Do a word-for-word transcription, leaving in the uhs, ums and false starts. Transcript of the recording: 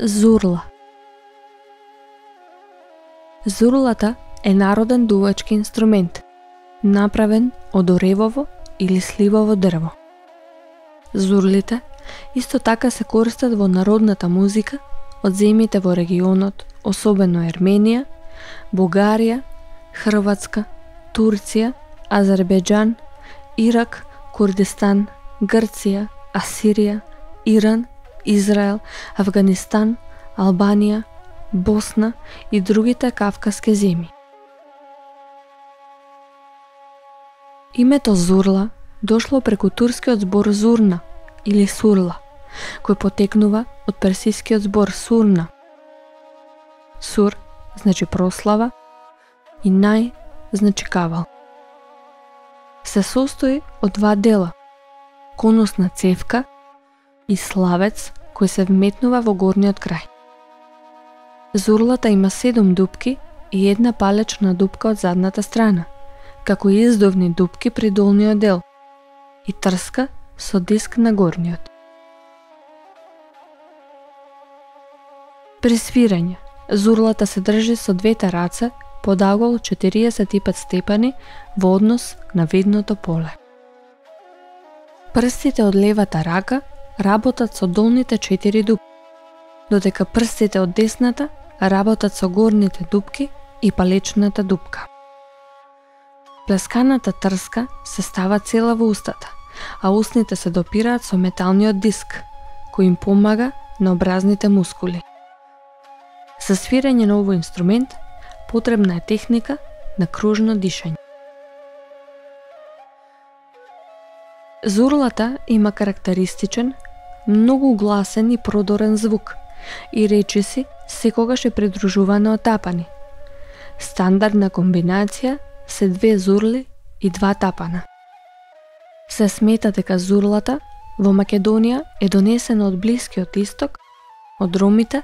Зурла. Зурлата е народен дувачки инструмент, направен од оревово или сливово дрво. Зурлите исто така се користат во народната музика од земјите во регионот, особено Ерменија, Бугарија, Хрватска, Турција, Азербејџан, Ирак, Курдистан, Грција, Асирија, Иран, Израел, Авганистан, Албанија, Босна и другите кавказски земји. Името Зурла дошло преку турскиот збор зурна или сурла, кој потекнува од персискиот збор сурна. Сур значи прослава и нај значи кавал. Се состои од два дела: конусна цевка и славец кој се вметнува во горниот крај. Зурлата има седум дупки и една палечна дупка од задната страна, како и издувни дупки при долниот дел и трска со диск на горниот. При свирање, зурлата се држи со двете раце под агол четириесет и пет степени во однос на видното поле. Прстите од левата рака работат со долните четири дупки, додека прстите од десната работат со горните дупки и палечната дупка. Плесканата трска се става цела во устата, а устните се допираат со металниот диск, кој им помага на образните мускули. За свирење на овој инструмент потребна е техника на кружно дишање. Зурлата има карактеристичен, многу гласен и продорен звук и речиси секогаш е придружувана од тапани. Стандардна комбинација се две зурли и два тапана. Се смета дека зурлата во Македонија е донесена од Блискиот Исток, од ромите